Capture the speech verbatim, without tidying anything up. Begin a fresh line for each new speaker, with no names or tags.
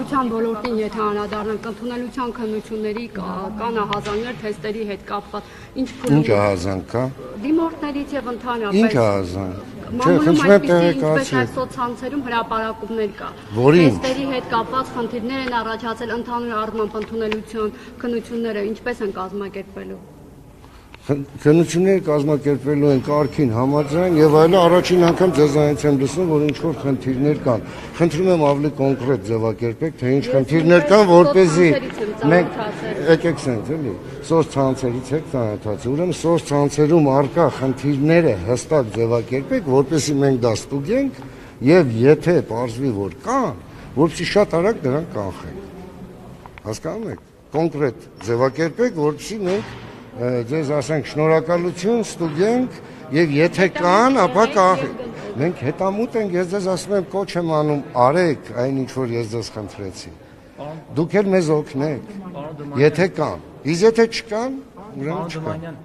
Կրթության ոլորտին եթե անդրադառնանք, ընդունելության քննությունների կան ահազանգներ թեստերի հետ կապված, ինչ
Ինչ ահազանգ կա։
Դիմորդներից եւ ընդհանրապես։
Ինչ ահազանգ։
Մամուլում այսպիսի ինչպես այս սոցցանցերում հրապարակումներ կա։ Թեստերի հետ կապված խնդիրներ են առաջացել ընդհանուր առմամբ ընդունելության քննությունները ինչպես են կազմակերպվելու։
Քննությունները կազմակերպվելու են կարգին համաձայն եւ այլը առաջին անգամ ձեզանից եմ լսում, որ ինչ որ խնդիրներ կան։ Խնդրում եմ ավելի կոնկրետ ձևակերպեք, թե ինչ խնդիրներ կան, որպեսզի մենք եկեք սենց էլի, սոցցանցերից եք ծանոթացել։ Ուրեմն սոցցանցերում առկա խնդիրները հստակ ձևակերպեք, որպեսզի մենք դա ստուգենք եւ եթե պարզվի, որ կան, որպեսզի շատ արագ դրանք կանխենք։ Հասկանում եք։ Կոնկրետ ձևակերպեք, որպեսզի մենք ձեզ ասենք շնորհակալություն ստուգենք եւ եթե կան, ապա կանխենք։ Մենք հետամուտ ենք, ես ձեզ ասում եմ կոչ եմ անում, արեք այն ինչ որ ես ձեզ խնդրեցի։ Դուք էլ մեզ օգնեք։ Եթե կան, իսկ եթե չկան, ուրեմն չկան։